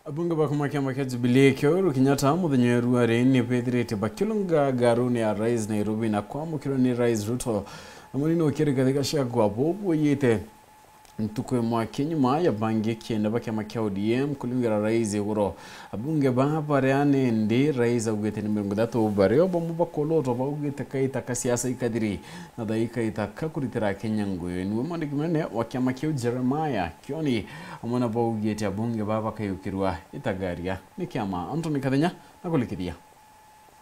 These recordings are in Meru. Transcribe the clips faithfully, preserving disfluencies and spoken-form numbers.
Abunge ba kuma kiama kia Jubilee kia Uhuru Kenyatta muthenya wa ruari ni bethirite bakilunga ngaruni ya Rais Nairobi na kwamukirwa ni Rais Ruto na munini wa Rigathi Gachagua bubuyite. Ntuku imwe aki nyuma ya bangi kienda ba kiama kia O D M kulungira rais iguru. Abunge ba baria nindi rais augite ni mirongo ithatu bario bamwe bakolotwa baugite kaita ka siasa ikathiri na thaika itaka kuritira Kenya nguyu. Niwe mwandiki munene wa kiama kiu Jeremiah Kioni amwe na baugite abunge ba bakayukirwa itagaria ni kiama. Anthony Kathenya na kulikithia.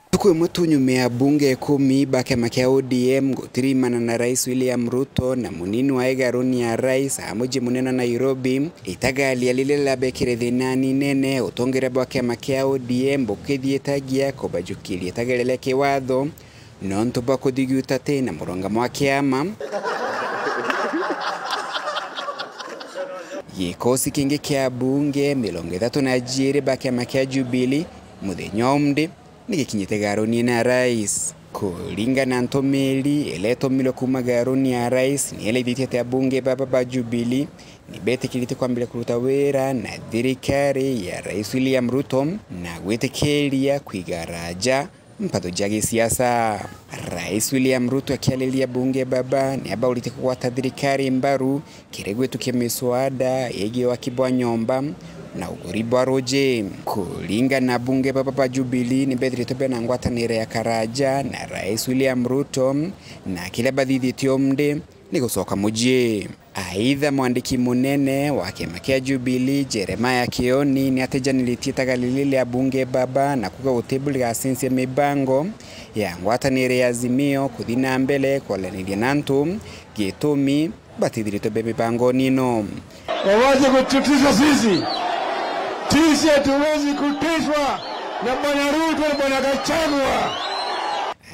Ntuku imwe tu nyuma ya abunge ikumi ba kiama kia O D M gutirimana na Rais William Ruto na munini wa igaruni ya rais a muji munene wa Nairobi, itagaria liria liabekire thinani nene, utongeria bwa kiama kia O D M bukithietagia kubajukiria itagaria ria kiwatho nontu bwa kuthigiuta ti na murungamo wa kiama. Gikosi kingi kia abunge mirongo ithatu na jiiri ba kiama kia Jubilee muthenya umdi ni gikinyite garuni na rais. Kuringana na ntumiri iria itumirwe kuuma garuni ya rais, ni iraithitie ati abunge baba ba Jubilee ni betikirite kwambiria kuruta wira na thirikari ya Rais William Ruto na gwitikiria kwiga raja mpatho ja gisiasa. Rais William Ruto akiariria bunge baba ni abaurite kugwata thirikari mbaru kiri gwitukia miswada yegii waki bwa nyomba na uguri bwa ruji. Kuringana na bunge baba ba Jubilee, ni bethiritwe bena ngwataniro ya karaja na Rais William Ruto, na kiria bathithitie umdi ni gucoka muji. Aitha, mwandiki munene wa kiama kia Jubilee, Jeremiah Kioni, ni atijaniritie itagaria riri ria bunge baba na kuuga gutiburigacensia mibango ya ngwataniro ya Azimio kuthi na mbere kwaraniria na antu, gitumi batithiritwe be mibangoni ino. Wawache kututisha sisi. Sisi hatuwezi kutishwa na Bwana Ruto na Bwana Gachagua.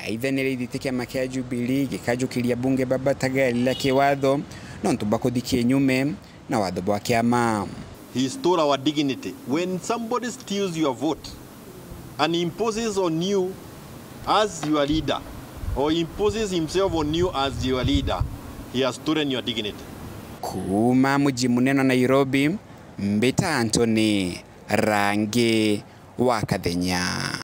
Aitha, ni iraithitie kiama kia Jubilee gikajukiria bunge baba itagaria ria kiwatho nontu bwa kuthi kinyume na watho bwa kiama. He stole our dignity. When somebody steals your vote and imposes on you as your leader, or imposes himself on you as your leader, he has stolen your dignity. Kuuma muji munene wa Nairobi, mbita Anthony Rangi wa Kathenya.